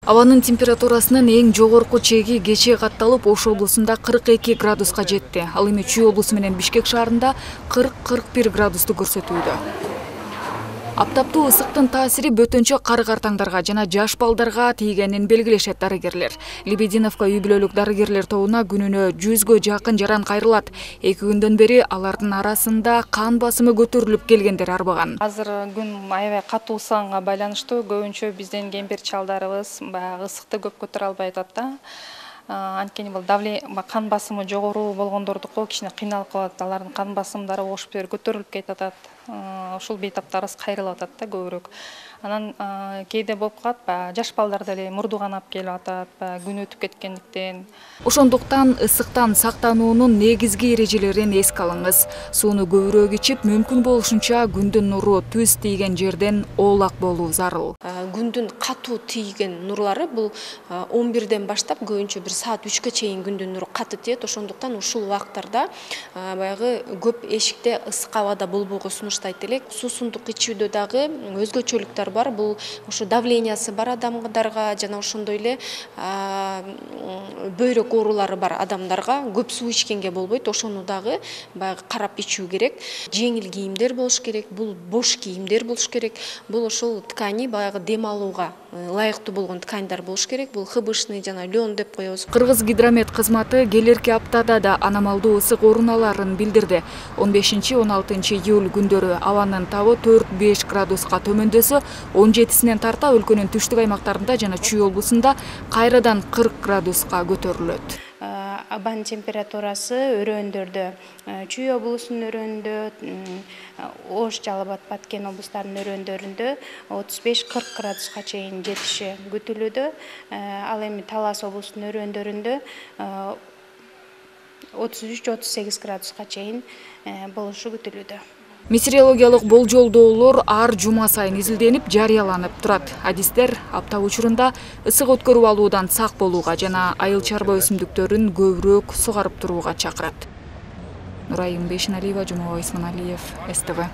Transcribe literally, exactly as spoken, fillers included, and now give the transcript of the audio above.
Абанын температурасынын эң жогорку чеги кечээ катталып, Ош облусунда кырк эки градуска жетти. Ал эми Чүй облусу менен Бишкек шаарында кырк кырк бир градусту көрсөтүүдө. Аптаптуу ысыктын таасири бөтөнчө кары-картаңдарга жана жаш балдарга тийгенин белгилешет дарыгерлер. Лебединовка үй бүлөлүк дарыгерлер тобуна күнүнө жүзгө жакын жаран кайрылат. Эки күндөн бери алардын арасында кан басымы көтөрүлүп келгендер арбаган. Азыр күн аябай катуу ысыганга байланыштуу көбүнчө биздин кемпир чалдарыбыз баягы ысыкты көп көтөрө албай атат да. Анткени бул давление кан басымы жогору болгондордуку кичине кыйналып калат. Алардын кан басымдары ошоп бери көтөрүлүп кетип атат. Ушул бейтаптарыбыз кайрылып атат да көбүрөөк. Анан кээде болуп калат, баягы жаш балдар деле мурду канап келип атат, баягы күн өтүп кеткендиктен. Ошондуктан ысыктан сактануунун негизги эрежелерин эске алыңыз. Сууну көбүрөөк ичип, мүмкүн болушунча күндүн нуру түз тийген жерден оолак болуу зарыл. Күндүн катуу тийген нурлары бул он бирден баштап көбүнчө бир саат үчкө чейин күндүн нуру катуу тиет. Ошондуктан ушул убактарда баягы көп эшикте ысык абада болбоого сунуштайт элек. Суусундук ичүүдө дагы өзгөчөлүктөр бар. Бул ушу давлениясы бар адамдарга жана ошондой эле бөйрөк оорулары бар адамдарга көп суу ичкенге болбойт. Ошону дагы баягы карап ичүү керек. Жеңил кийимдер болуш керек. Бул бош кийимдер болуш керек. Бул ошол ткани баягы дем алууга ылайыктуу болгон тканьдар болуш керек. Бул хыбышный жана лен деп коебуз. Кыргыз гидромет кызматы келерки аптада да аномалдуу ысык орун аларын билдирди. он бешинчи он алтынчы июль күндөрү абанын табы төрт беш градуска төмөндөсө, он жетисинен тарта өлкөнүн түштүк аймактарында жана Чүй облусунда кайрадан кырк градуска көтөрүлөт. Абан температурасы өрөөндөрдө, Чүй облусунун өрөөндө, Ош, Жалал Абад, Баткен облустарынын өрөөндөрүндө отуз беш кырк градуска чейин жетиши күтүлүүдө. Ал эми Талас облусунун өрөөндөрүндө отуз үч отуз сегиз градуска чейин болушу күтүлүүдө. Метеорологиялык болжолдоолор ар жума сайын изилденип, жарыяланып турат. Адистер апта учурунда ысык өткөрүп алуудан сак болууга жана айыл чарба өсүмдүктөрүн көбүрөөк сугарып турууга чакырат. Нурайым Бешеналиева, Жумабай Исманалиев, эс тэ вэ.